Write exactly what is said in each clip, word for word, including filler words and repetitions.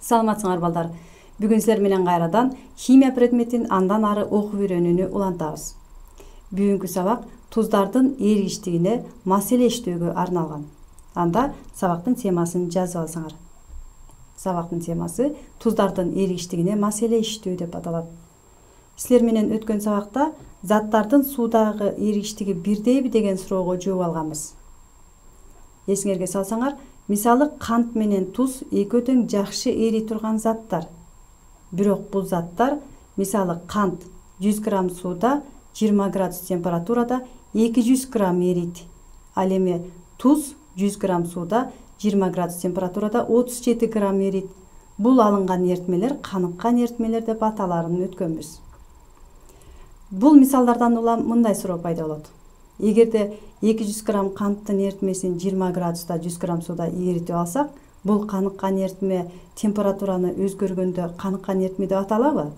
Саламатсыңар балдар. Бүгүн силер менен кайрадан химия предметин андан ары окуп үйрөнүүнү улантабыз. Бүгүнкү сабак туздардын эригиштигине маселе иштөөгө арналган. Анда сабактын темасын жазып алсаңар. Сабактын темасы туздардын эригиштигине маселе иштөө деп аталат. Силер менен өткөн сабакта заттардын суудагы эригиштиги бирдейби деген суроого жооп алганбыз. Эсиңерге салсаңар, мисалы кант менен туз эки тең жакшы эри турган заттар. Бирок бул заттар, мисалы кант жүз грамм сууда жыйырма градус температурада эки жүз грамм эрийт. Ал эми туз жүз грамм сууда жыйырма градус температурада отуз жети грамм эрийт. Бул алынган эритмелер каныккан эритмелер деп аталарын өткөнбүз. Бул мисалдардан улам мындай суроо пайда болот. Эгерде эки жүз грамм канттын эритмесин жыйырма градуста жүз грамм сууда эритип алсак, бул каныккан эритме температураны өзгөргөндө каныккан эритме деп аталабы?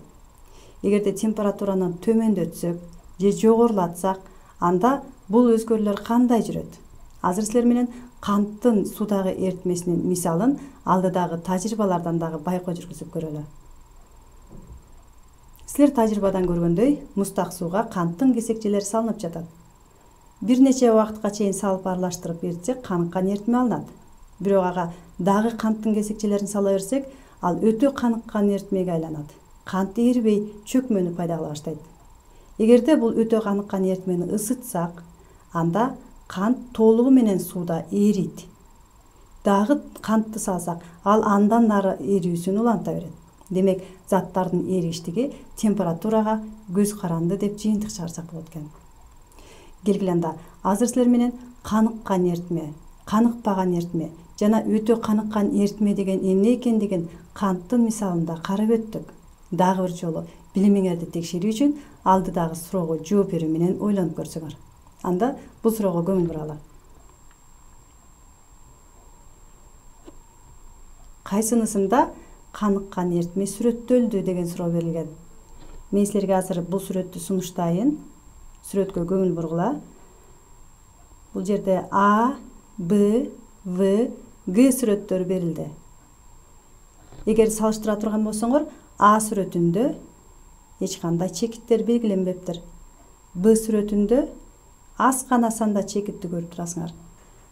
Эгерде температураны төмөндөтсөк же жогорулатсак, анда бул өзгөрүүлөр кандай жүрөт? Азыр силер менен канттын суудагы эритмесинин мисалын алдыдагы тажрыйбалардан дагы байкоо жүргүзүп көрөлү. Силер тажрыйбадан көргөндөй, муздак сууга канттын кесекчелери салынып жатат. Бир нече убакытка чейин салып аралаштырып эритсек, каныккан эритме алынат. Бирок ага дагы канттын кесекчелерин сала берсек, ал өтө каныккан эритмеге айланат. Кант эрибей, чөкмөнү пайда кыла баштайт. Эгерде бул өтө каныккан эритмени ысытсак, анда кант толугу менен сууда эрийт. Дагы кантты салсак, ал андан ары эрүүсүн уланта берет. Демек, заттардын эригиштиги температурага көз каранды деп жыйынтык чыгарсак болот экен. Келгиле анда, азыр силер менен каныккан эритме, каныкпаган эритме жана өтө каныккан эритме деген эмне экендигин канттын мисалында карап өттүк. Дагы бир жолу билимиңерди текшерүү үчүн алдыдагы суроого жооп берүү менен ойлонуп көрсөңөр. Анда бул суроого көңүл буралы. Кайсынысында каныккан эритме сүрөттөлдү деген суроо берилген. Мен силерге азыр бул сүрөттү сунуштайын. Сүрөткө көңүл бургула. Бул жерде А, Б, В, Г сүрөттөрү берилди. Эгер салыштыра турган болсоңор, А сүрөтүндө эч кандай чекиттер белгиленбептир. Б сүрөтүндө аз гана санда чекитти көрүп турасыңар.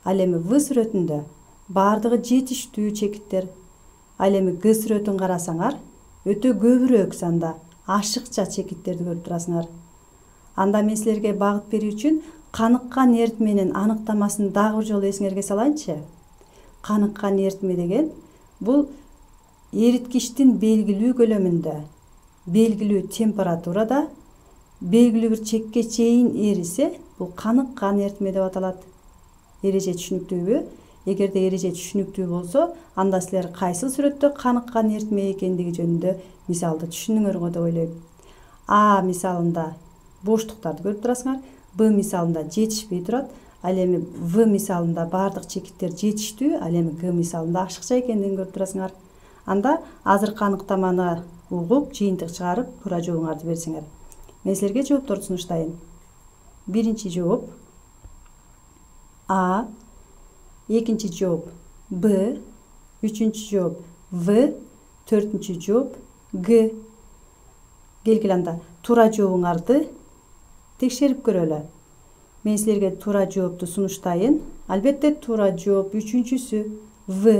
Ал эми В сүрөтүндө бардыгы жетиштүү чекиттер. Ал эми Г сүрөтүн карасаңар, өтө көбүрөөк санда ашыкча чекиттерди көрүп турасыңар. Анда мен силерге багыт берүү үчүн каныккан эритменин аныктамасын дагы бир жолу эсиңерге салайынчы. Каныккан эритме деген бул эриткичтин белгилүү көлөмүндө, белгилүү температурада, белгилүү бир чекке чейин эрисе, бул каныккан эритме деп аталат. Эреже түшүнүктүүбү? Эгерде эреже түшүнүктүү болсо, анда силер кайсы сүрөттө каныккан эритме экендиги жөнүндө мисалды түшүнүңөр деп ойлойм. А мисалында боштуктарды көрүп турасыңар, Б мисалында жетишпей турат, ал эми В мисалында бардык чекиттер жетиштүү, ал эми Г мисалында ашыкча экендигин көрүп турасыңар. Анда азыр каныктаманы угуп, жыйынтык чыгарып, туура жообуңарды берсеңер. Мен силерге жоопторду сунуштайын. Биринчи жооп А, экинчи жооп Б, үчүнчү жооп В, төртүнчү жооп Г. Келгиле анда, туура жообуңарды текшерип көрөлү. Мен силерге туура жоопту сунуштайын. Албетте туура жооп үчүнчүсү В.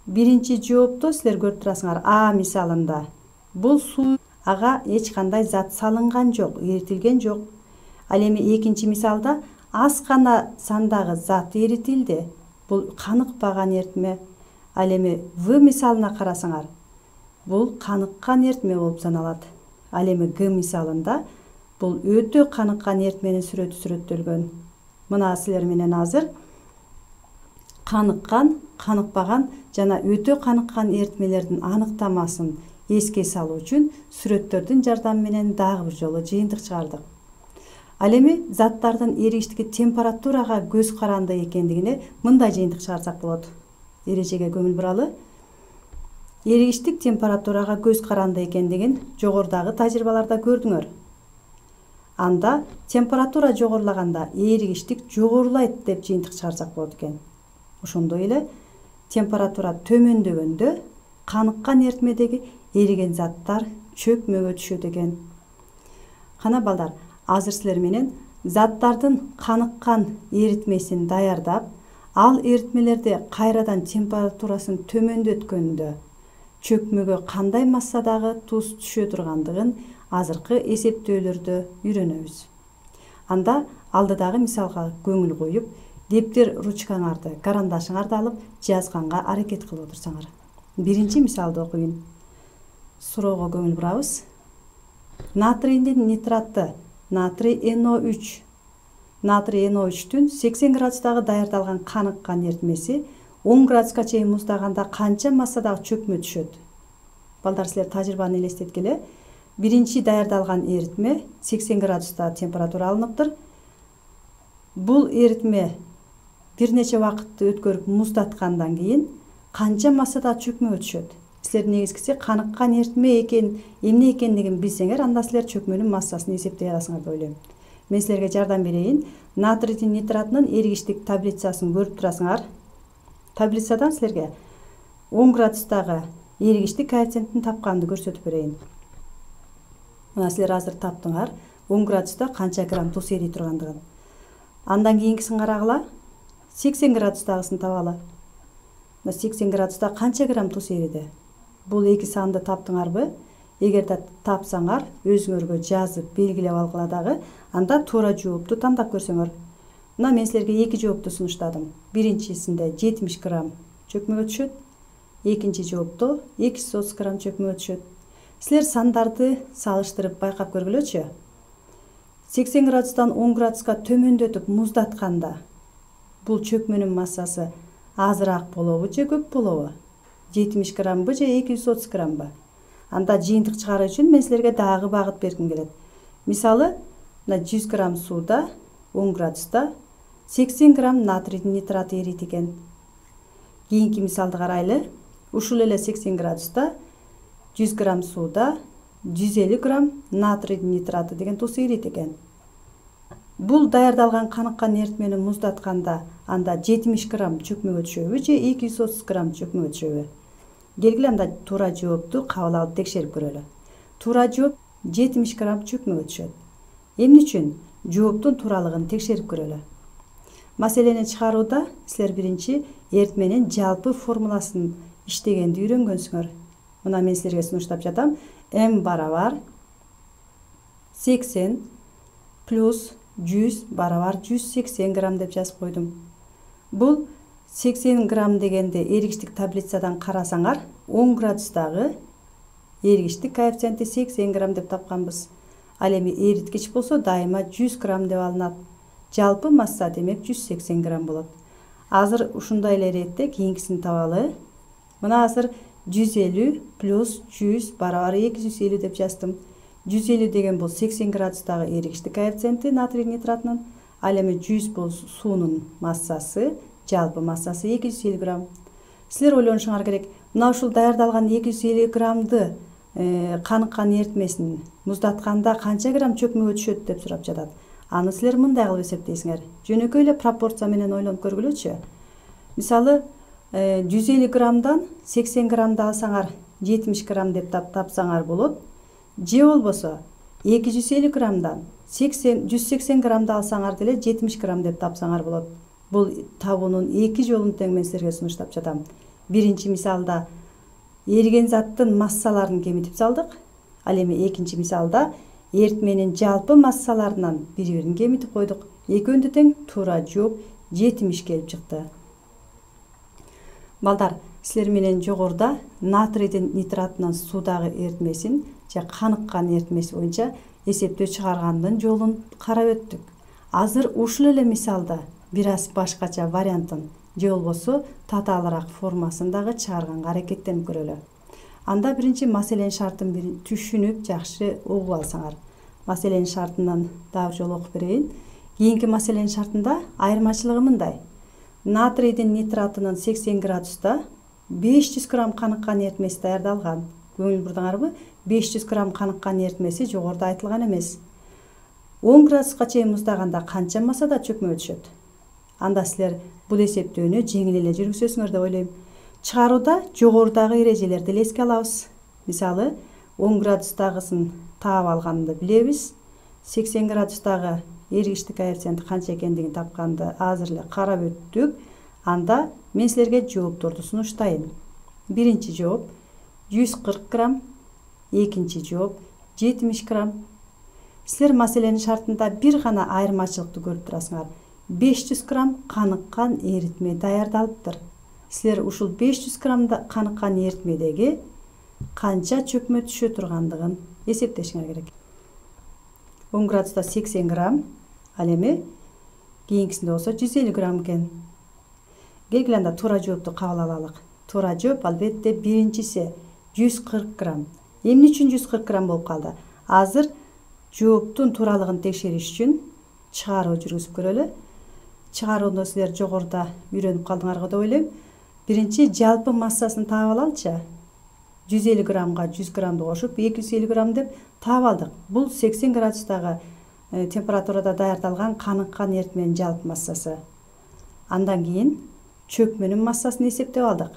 Биринчи жоопту силер көрүп турасыңар А мисалында. Бул суу, ага эч кандай зат салынган жок, эритилген жок. Ал эми экинчи мисалда аз гана сандагы зат эритилди. Бул каныкпаган эритме. Ал эми В мисалына карасаңар, бул каныккан эритме болуп саналат. Ал эми Г мисалында бул өтө каныккан эритменин сүрөтү сүрөттөлгөн. Мына силер менен азыр каныккан, каныкпаган жана өтө каныккан эритмелердин аныктамасын эске салуу үчүн сүрөттөрдүн жардамы менен дагы бир жолу жыйынтык чыгардык. Ал эми заттардын эригиштиги температурага көз каранды экендигине мындай жыйынтык чыгарсак болот. Эрежеге көңүл буралы. Эригиштик температурага көз каранды экендигин жогорудагы тажрыйбаларда көрдүңөр. Анда температура жогорулаганда эригиштик жогорулайт деп жыйынтык чыгарсак болот экен. Ошондой эле температура төмөндөгөндө каныккан эритмедеги эриген заттар чөкмөгө түшөт экен. Кана балдар, азыр силер менен заттардын каныккан эритмесин даярдап, ал эритмелерди кайрадан температурасын төмөндөткөндө чөкмөгө кандай массадагы туз түшө тургандыгын азыркы эсептөөлөрдө үйрөнөбүз. Анда алдыдагы мисалга көңүл коюп, дептер ручкаңарды, карандашыңарды алып жазганга аракет кылып отурсаңар. Биринчи мисалды окуйын. Суроого көңүл бурабыз. Натрийдин нитраты, натрий эн о үч. Натрий эн о үчтүн сексен градустагы даярдалган каныккан эритмеси он градуска чейин муздаганда канча массадагы чөкмө түшөт? Балдар, силер тажрыйбаны элестеткиле. Биринчи даярдалган эритме сексен градуста температура алыныптыр. Бул эритме бир нече убакытты өткөрүп муздаткандан кийин канча массада чөкмөгө түшөт? Силер негизгиси каныккан эритме экен, эмне экендигин билсеңер, анда силер чөкмөнүн массасын эсептей аласыңар деп ойлойм. Мен силерге жардам берейин. Натрийдин нитратынын эригиштик таблицасын көрүп турасыңар. Таблицадан силерге он градустагы эригиштик коэффициентин тапканды көрсөтүп берейин. Мына силер азыр таптыңар он градуста канча грамм туз эрий тургандыгын. Андан кийинкисин карагыла, сексен градустагысын табалы. Мына сексен градуста канча грамм туз эриди? Бул эки санды таптыңарбы? Эгер да тапсаңар, өзүңөргө жазып белгилеп алгыла дагы, анда туура жоопту тандап көрсөңөр. Мына мен силерге эки жоопту сунуштадым. Биринчисинде жетимиш грамм чөкмөгө түшөт, экинчи жоопто эки жүз отуз грамм чөкмөгө түшөт. Силер сандарды салыштырып байкап көргүлөчү. сексен градустан он градуска төмөндөтүп муздатканда бул чөкмөнүн массасы азыраак болобу же көп болобу? жетимиш граммбы же эки жүз отуз граммбы? Анда жыйынтык чыгаруу үчүн мен силерге дагы багыт бергим келет. Мисалы, мына жүз грамм сууда он градуста сексен грамм натрийдин нитраты эрийт экен. Кийинки мисалды карайлы. Ушул эле сексен градуста жүз грамм сууда жүз элүү грамм натрийдин нитраты деген туз эрийт экен. Бул даярдалган каныккан эритмени муздатканда анда жетимиш грамм чөкмөгө түшөбү же эки жүз отуз грамм чөкмөгө түшөбү? Келгиле анда туура жоопту кабыл алып текшерип көрөлү. Туура жооп жетимиш грамм чөкмөгө түшөт. Эмне үчүн? Жооптун тууралыгын текшерип көрөлү. Маселени чыгарууда силер биринчи эритменин жалпы формуласын иштегенди үйрөнгөнсүңөр. Мына мен силерге сунуштап жатам. М барабар сексен плюс жүз барабар жүз сексен грамм деп жазып койдум. Бул сексен грамм дегенде эригиштик таблицадан карасаңар, он градустагы эригиштик коэффициенти сексен грамм деп тапканбыз. Ал эми эриткич болсо дайыма жүз грамм деп алынат. Жалпы масса демек жүз сексен грамм болот. Азыр ушундай эле иретте кийинкисин табалы. Мына азыр жүз элүү плюс жүз барабар эки жүз элүү деп жаздым. жүз элүү деген бул сексен градустагы эригиштик коэффициенти натрий нитратынын, ал эми жүз бул суунун массасы, жалпы массасы эки жүз элүү грамм. Силер ойлонушуңар керек, мына ушул даярдалган эки жүз элүү граммды каныккан эритмесин муздатканда канча грамм чөкмөгө түшөт деп сурап жатат. Аны силер мындай кылып эсептейсиңер. Жөнөкөй эле пропорция менен ойлонуп көргүлөчү. Мисалы, жүз элүү граммдан сексен граммды алсаңар, жетимиш грамм деп тапсаңар болот. Же болбосо эки жүз элүү граммдан жүз сексен граммды алсаңар деле жетимиш грамм деп тапсаңар болот. Бул табуунун эки жолун тең мен силерге сунуштап жатам. Биринчи мисалда эриген заттын массаларын кемитип салдык. Ал эми экинчи мисалда эритменин жалпы массаларынан бири-бирин кемитип койдук. Экөөндө тең туура жооп жетимиш келип чыкты. Балдар, силер менен жогоруда натрийдин нитратынын суудагы эритмесин же каныккан эритмеси боюнча эсептөө чыгаргандын жолун карап өттүк. Азыр ушул эле мисалда бир аз башкача вариантын же болбосо татаалыраак формасын дагы чыгарганга аракеттенип көрөлү. Анда биринчи маселенин шартын түшүнүп жакшы угуп алсаңар. Маселенин шартынан дагы жолу окуп берейин. Кийинки маселенин шартында айырмачылыгы мындай. Натрийдин нитратынын сексен градуста беш жүз грамм каныккан эритмеси даярдалган. Көңүл бурдуңарбы? беш жүз грамм каныккан эритмеси жогоруда айтылган эмес. он градуска чейин муздаганда канча массада чөкмөгө түшөт? Анда силер бул эсептөөнү жеңил эле жүргүзөсүңөр деп ойлойм. чыгарууда жогорудагы эрежелерди эле эске алабыз. Мисалы, он градустагысын таап алганды билебиз. сексен градустагы эргичтик коэффициенти канча экендигин тапканды азыр эле карап өттүк. Анда мен силерге жоопторду сунуштайын. Биринчи жооп жүз кырк грамм, экинчи жооп жетимиш грамм. Силер маселенин шартында бир гана айырмачылыкты көрүп турасыңар. беш жүз грамм каныккан эритме даярдалыптыр. Силер ушул беш жүз граммда каныккан эритмедеги канча чөкмө түшө тургандыгын эсептешиңер керек. он градуста сексен грамм, ал эми кийинкисинде болсо жүз элүү грамм экен. Келгиле анда туура жоопту кабыл алалык. Туура жооп албетте биринчиси жүз кырк грамм. Эмне үчүн жүз кырк грамм болуп калды? Азыр жооптун тууралыгын текшериш үчүн чыгаруу жүргүзүп көрөлү. Чыгарууну силер жогоруда үйрөнүп калдыңарго деп ойлойм. Биринчи жалпы массасын таап алалычы. жүз элүү граммга жүз граммды кошуп эки жүз элүү грамм деп таап алдык. Бул сексен градустагы температурада даярдалган каныккан эритменин жалпы массасы. Андан кийин чөкмөнүн массасын эсептеп алдык.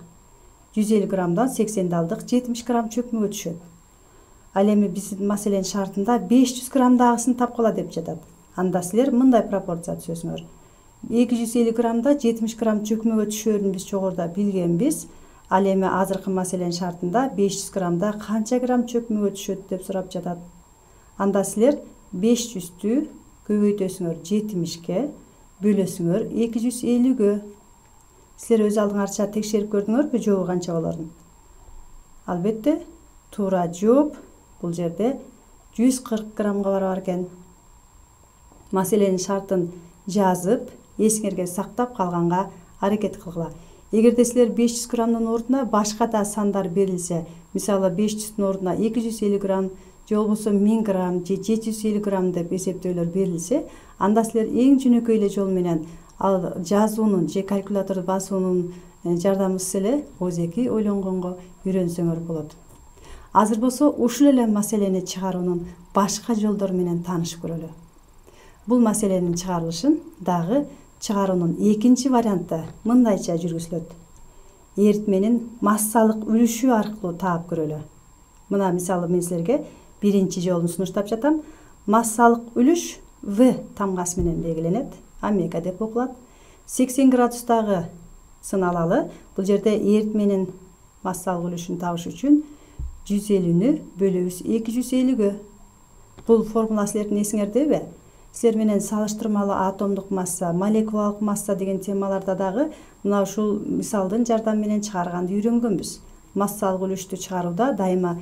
жүз элүү граммдан сексенди алдык, жетимиш грамм чөкмөгө түшөт. Ал эми биздин маселенин шартында беш жүз граммдагысын тапкыла деп жатат. Анда силер мындай пропорция түзөсүңөр. эки жүз элүү граммда жетимиш грамм чөкмөгө түшөрүн биз жогоруда билгенбиз. Ал эми азыркы маселенин шартында беш жүз граммда канча грамм чөкмөгө түшөт деп сурап жатат. Анда силер беш жүздү көбөйтөсүңөр жетимишке, бөлөсүңөр эки жүз элүүгө. Силер өз алдыңарча текшерип көрдүңөрбү жообу канча болорун? Албетте, туура жооп бул жерде жүз кырк граммга барабар экен. Маселенин шартын жазып, эсиңерге сактап калганга аракет кылгыла. Эгерде силер беш жүз граммдын ордуна башка да сандар берилсе, мисалы беш жүздүн ордуна эки жүз элүү грамм, же болбосо миң грамм же жети жүз элүү грамм деп эсептөөлөр берилсе, анда силер эң жөнөкөй эле жол менен ал жазуунун же калькуляторду басуунун жардамысыз эле озеки ойлонгонго үйрөнсөңөр болот. Азыр болсо ушул эле маселени чыгаруунун башка жолдору менен таанышып көрөлү. Бул маселенин чыгарылышын дагы чыгаруунун экинчи варианты мындайча жүргүзүлөт. Эритменин массалык үлүшү аркылуу таап көрөлү. Мына мисалы мен силерге биринчи жолун сунуштап жатам. Массалык үлүш В тамгасы менен белгиленет. Омега деп окулат. сексен градустагы сын алалы. Бул жерде эритменин массалык үлүшүн табыш үчүн жүз элүүнү бөлөбүз эки жүз элүүгө. Бул формула силердин эсиңердеби? Силер менен салыштырмалуу атомдук масса, молекулалык масса деген темаларда дагы мына ушул мисалдын жардамы менен чыгарганды үйрөнгөнбүз. Массалык үлүштү чыгарууда дайыма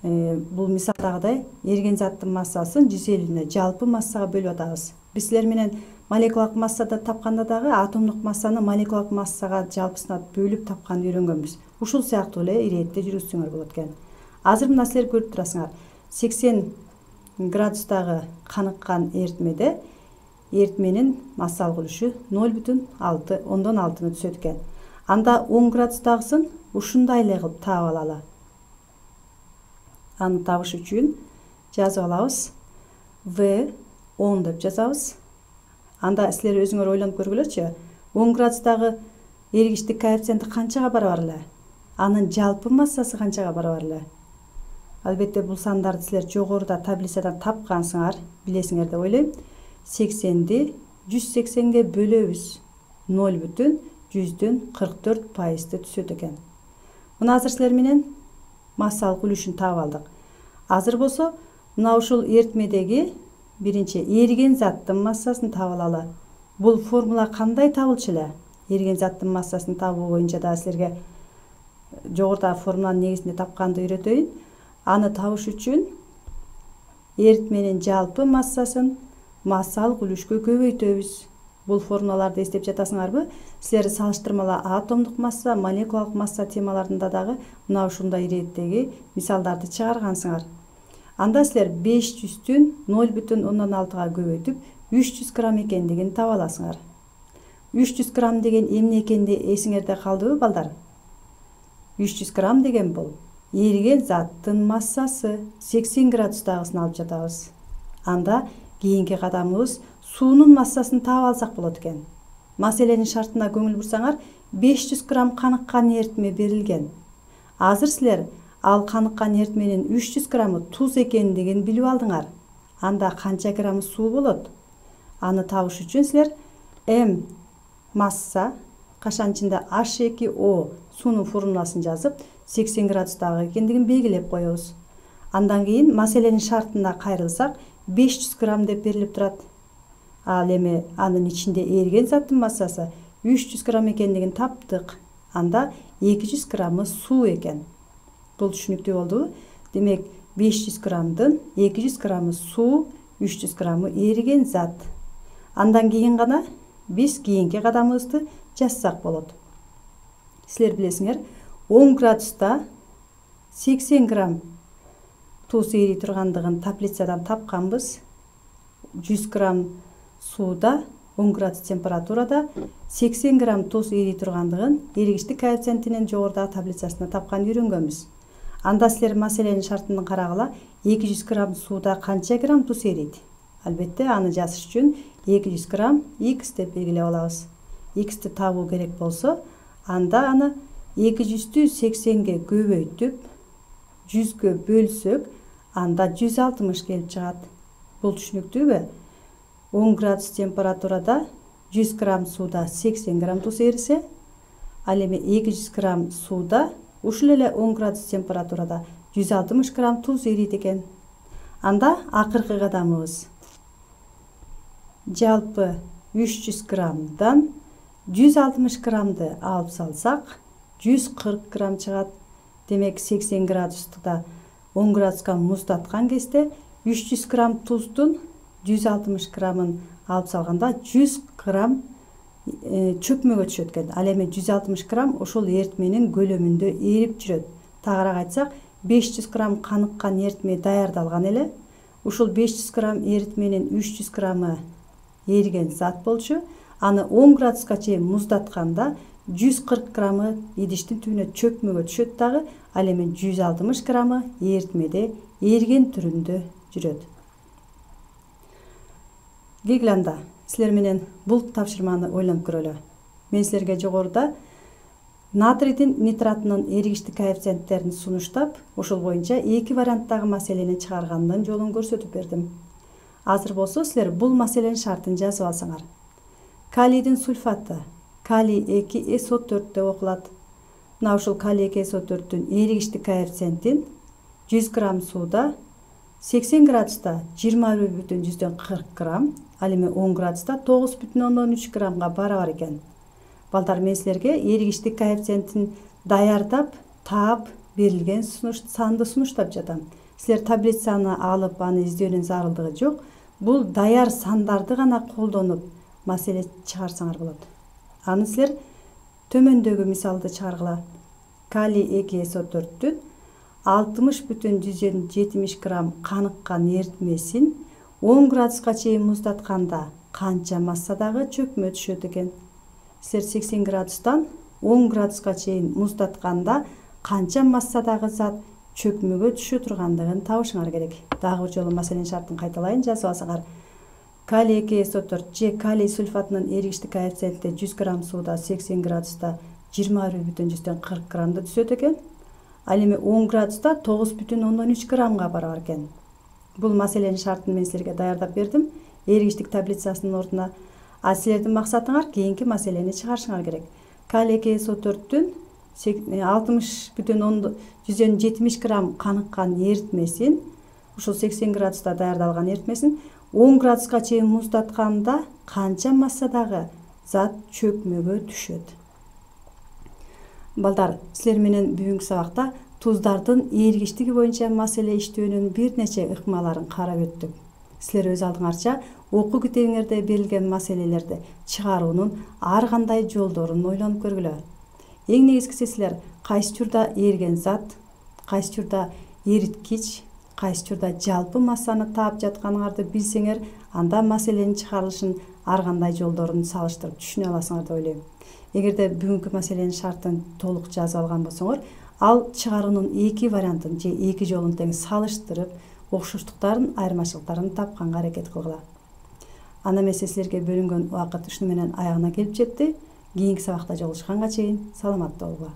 э, бул мисалдагыдай эриген заттын массасын жүз элүүнү жалпы массага бөлүп атабыз. Биз силер менен молекулалык массада тапканда дагы атомдук массаны молекулалык массага жалпысына бөлүп тапканды үйрөнгөнбүз. Ушул сыяктуу эле иретте жүргүзсөңөр болот экен. Азыр мына силер көрүп турасыңар. сексен градустагы каныккан эритмеде эритменин массалык үлүшү ноль бүтүн алты ондон алтыны түшөт экен. Анда он градустагысын ушундай эле кылып таап алалы. Аны табыш үчүн жазып алабыз. В он деп жазабыз. Анда силер өзүңөр ойлонуп көргүлөчү. он градустагы эргичтик коэффициенти канчага барабар эле? Анын жалпы массасы канчага барабар эле? Албетте бул сандарды силер жогоруда таблицадан тапкансыңар, билесиңер деп ойлойм. сексенди жүз сексенге бөлөбүз. ноль бүтүн жүздөн кырк төрт пайызды түшөт экен. Мына азыр силер менен массалык үлүшүн таап алдык. Азыр болсо мына ушул эритмедеги биринчи эриген заттын массасын таап алалы. Бул формула кандай табылчу эле? Эриген заттын массасын табуу боюнча да силерге жогорудагы формуланын негизинде тапканды үйрөтөйүн. Аны табыш үчүн эритменин жалпы массасын массалык үлүшкө көбөйтөбүз. Бул формулаларды эстеп жатасыңарбы? Силер салыштырмалуу атомдук масса, молекулалык масса темаларында дагы мына ушундай иреттеги мисалдарды чыгаргансыңар. Анда силер беш жүздүн ноль бүтүн ондон алтыга көбөйтүп үч жүз грамм экендигин таба аласыңар. үч жүз грамм деген эмне экенди эсиңерде калдыбы балдар? үч жүз грамм деген бул эриген заттын массасы. сексен градустагысын алып жатабыз. Анда кийинки кадамыбыз суунун массасын таап алсак болот экен. Маселенин шартына көңүл бурсаңар, беш жүз грамм каныккан эритме берилген. Азыр силер ал каныккан эритменин үч жүз граммы туз экендигин билип алдыңар. Анда канча грамм суу болот? Аны табыш үчүн силер М масса кашанчында H эки O суунун формуласын жазып, сексен градустагы экендигин белгилеп коебуз. Андан кийин маселенин шартына кайрылсак, беш жүз грамм деп берилип турат. Ал эми анын ичинде эриген заттын массасы үч жүз грамм экендигин таптык. Анда эки жүз граммы суу экен. Бул түшүнүктүү болдубу? Демек, беш жүз граммдын эки жүз граммы суу, үч жүз граммы эриген зат. Андан кийин гана биз кийинки кадамыбызды жазсак болот. Силер билесиңер, он градуста сексен грамм туз эри тургандыгын таблицадан тапканбыз. жүз грамм сууда он градус температурада сексен грамм туз эри тургандыгын эригиштик коэффициентинин жогорудагы таблицасында тапкан үйрөнгөнбүз. Анда силер маселенин шартын карагыла, эки жүз грамм сууда канча грамм туз эрийт? Албетте, аны жазыш үчүн эки жүз грамм X деп белгилеп алабыз. X'ти табуу керек болсо, анда аны эки жүздү сексенге көбөйтүп, жүзгө бөлсөк, анда жүз алтымыш келип чыгат. Бул түшүнүктүүбү? он градус температурада жүз грамм сууда сексен грамм туз эрисе, ал эми эки жүз грамм сууда ушул эле он градус температурада жүз алтымыш грамм туз эрийт экен. Анда акыркы кадамыбыз. Жалпы үч жүз граммдан жүз алтымыш граммды алып салсак, жүз кырк грамм чыгат. Демек, сексен градустуда он градуска муздаткан кезде үч жүз грамм туздун жүз алтымыш граммын алып салганда жүз грамм э, чөкмөгө түшөт экен. Ал эми жүз алтымыш грамм ошол эритменин көлөмүндө эрип жүрөт. Тагыраак айтсак, беш жүз грамм каныккан эритме даярдалган эле. Ушул беш жүз грамм эритменин үч жүз граммы эриген зат болчу. Аны он градуска чейин муздатканда жүз кырк граммы идиштин түбүнө чөкмөгө түшөт дагы. Ал эми жүз алтымыш граммы эритмеде эриген түрүндө жүрөт. Келгиле анда, силер менен бул тапшырманы ойлонуп көрөлү. Мен силерге жогоруда натрийдин нитратынын эригиштик коэффициенттерин сунуштап, ошол боюнча эки варианттагы маселени чыгаргандын жолун көрсөтүп бердим. Азыр болсо силер бул маселенин шартын жазып алсаңар. Калийдин сульфаты калий эки эс о төрт деп окулат. Мына ушул калий эки эс о төрттүн эригиштик коэффициентин жүз грамм сууда сексен градуста жыйырма бир бүтүн жүздөн кырк грамм, ал эми он градуста тогуз бүтүн ондон үч граммга барабар экен. Балдар, мен силерге эригиштик коэффициентин даярдап, таап берилген сунуш санды сунуштап жатам. Силер таблицаны алып, аны издөөнүн зарылдыгы жок. Бул даяр сандарды гана колдонуп маселе чыгарсаңар болот. Аны силер төмөндөгү мисалды чыгаргыла. Калий эки эс о төрттүн алтымыш бүтүн жүздөн жетимиш грамм каныккан эритмесин он градуска чейин муздатканда канча массадагы чөкмө түшөт экен? Силер сексен градустан он градуска чейин муздатканда канча массадагы зат чөкмөгө түшө тургандыгын табышыңар керек. Дагы бир жолу маселенин шартын кайталайын, жазып алсаңар. Калий эки эс о төрт же калий сульфатынын эригиштик коэффициенти жүз грамм сууда сексен градуста жыйырма бир бүтүн жүздөн кырк граммды түзөт экен. Ал эми он градуста тогуз бүтүн ондон үч граммга барабар экен. Бул маселенин шартын мен силерге даярдап бердим эригиштик таблицасынын ордуна. А силердин максатыңар кийинки маселени чыгарышыңар керек. Калий эки эс о төрттүн алтымыш бүтүн жүздөн жетимиш грамм каныккан эритмесин, ушул сексен градуста даярдалган эритмесин он градуска чейин муздатканда канча массадагы зат чөкмөгө түшөт? Балдар, силер менен бүгүнкү сабакта туздардын эригиштиги боюнча маселе иштөөнүн бир нече ыкмаларын карап өттүк. Силер өз алдыңарча окуу китебиңерде берилген маселелерди чыгаруунун ар кандай жолдорун ойлонуп көргүлө. Эң негизгиси силер кайсы учурда эриген зат, кайсы учурда эриткич, кайсы учурда жалпы массаны таап жатканыңарды билсеңер, анда маселенин чыгарылышын ар кандай жолдорун салыштырып түшүнө аласыңар деп ойлойм. Эгерде бүгүнкү маселенин шартын толук жазып алган болсоңор, ал чыгаруунун эки вариантын же эки жолун тең салыштырып, окшоштуктарын, айырмачылыктарын тапканга аракет кылгыла. Ана эмесе силерге бөлүнгөн убакыт ушуну менен аягына келип жетти. Кийинки сабакта жолугушканга чейин саламатта болгула.